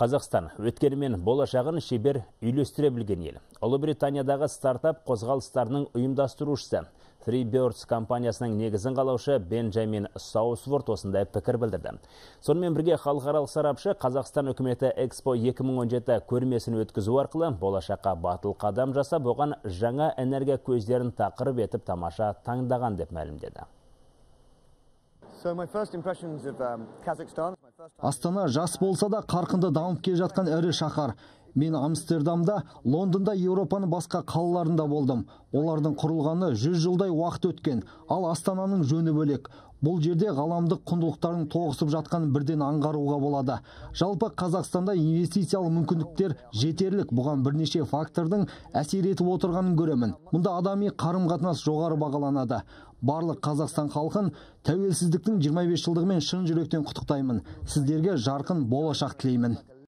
Қазақстан өткені мен болашағын шебер үйлестіре білген ел. Ұлыбританиядағы стартап қозғалыстарының ұйымдастырушысы Freebirds компаниясының негізін қалаушы Бенджамин Саусворт осындай пікір білдірді. Сонымен бірге халықаралық сарапшы Қазақстан үкіметі Экспо 2017 көрмесін өткізу арқылы болашаққа батыл қадам жасап, оған жаңа энергия көздерін тақырып етіп тамаша таңдаған деп мәлімдеді. Астана жас болса да қарқынды дамып келе жатқан ірі шаһар. Мен Амстердамда, Лондонда, Еуропаның басқа қалаларында болдым. Олардың құрылғаны 100 жылдай уақыт өткен, ал Астананың жөні бөлек. Бұл жерде ғаламдық құндылықтардың тоғысып жатқанын бірден аңғаруға болады. Жалпы Қазақстанда инвестициялық мүмкіндіктер жетерлік, бұған бірнеше фактордың әсер етіп отырғанын көремін. Мұнда адами қарым-қатынас жоғары бағаланады. Барлық Қазақстан халқын тәуелсіздіктің 25 жылдығымен шын жүректен құттықтаймын. Сіздерге жарқын болашақ тілеймін.